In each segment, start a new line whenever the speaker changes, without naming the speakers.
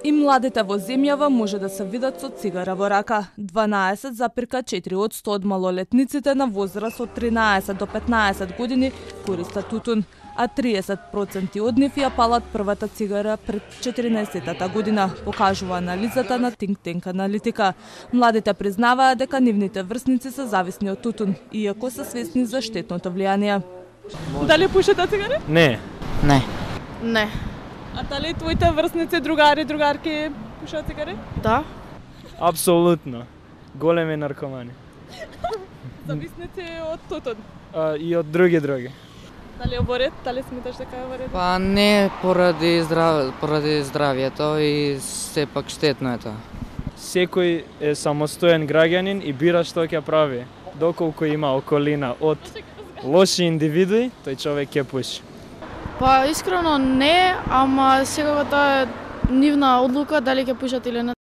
И младите во земјава може да се видат со цигара во рака. 12,4% од малолетниците на возраст од 13 до 15 години користат тутун, а 30% од нив ја палат првата цигара пред 14-тата година, покажува анализата на Think Tank Аналитика. Младите признаваат дека нивните врсници се зависни од тутун, иако се свесни за штетното влијание. Дали пушите цигари?
Не.
Не.
Не.
А дали твоите врсници, другари, другарки пушат цигари?
Да.
Апсолутно. Големи наркомани.
Зависници од тутун.
И од други.
Дали оборет? Дали сметаш дека е во ред?
Па не поради здравјето и сепак штетно е тоа.
Секој е самостоен граѓанин и бира што ќе прави. Доколку има околина од лоши индивидуи, тој човек ќе пуши.
Па искрено не, ама секако тоа е нивна одлука дали ќе пушат или не.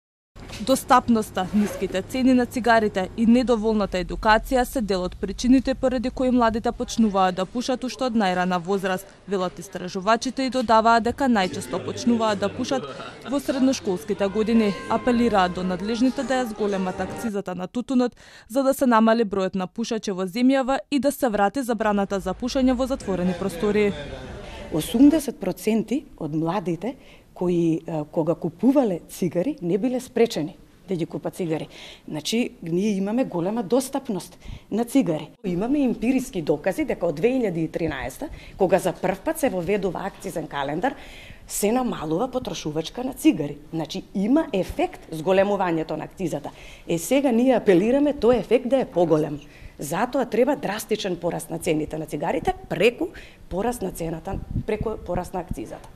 Достапноста, ниските цени на цигарите и недоволната едукација се дел од причините поради кои младите почнуваат да пушат уште од најрана возраст. Велат истражувачите и додаваат дека најчесто почнуваат да пушат во средношколските години. Апелираат до надлежните да ја зголемат акцизата на тутунот за да се намали бројот на пушачи во земјава и да се врати забраната за пушење во затворени простории.
80% од младите кои кога купувале цигари не биле спречени да ги купат цигари. Значи, ние имаме голема достапност на цигари. Имаме емпириски докази дека од 2013, кога за прв пат се воведува акцизен календар, се намалува потрошувачка на цигари. Значи, има ефект зголемувањето на акцизата. Сега ние апелираме тој ефект да е поголем. Затоа треба драстичен пораст на цените на цигарите преку пораст на цената, преку пораст на акцизата.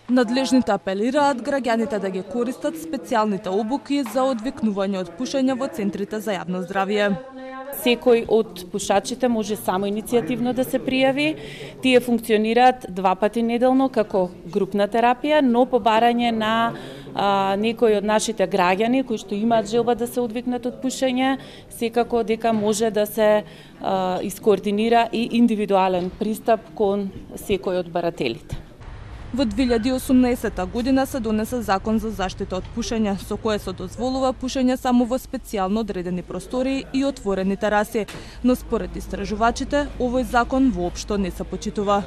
Надлежните апелираат граѓаните да ги користат специјалните обуки за одвикнување од пушење во центрите за јавно здравје.
Секој од пушачите може само иницијативно да се пријави. Тие функционираат 2 пати неделно како групна терапија, но по барање на некои од нашите граѓани кои што имаат желба да се одвикнат од пушење, секако дека може да се искоординира и индивидуален пристап кон секој од барателите.
Во 2018 година се донесе закон за заштита од пушење, со кое се дозволува пушење само во специјално одредени простории и отворени тераси, но според истражувачите, овој закон воопшто не се почитува.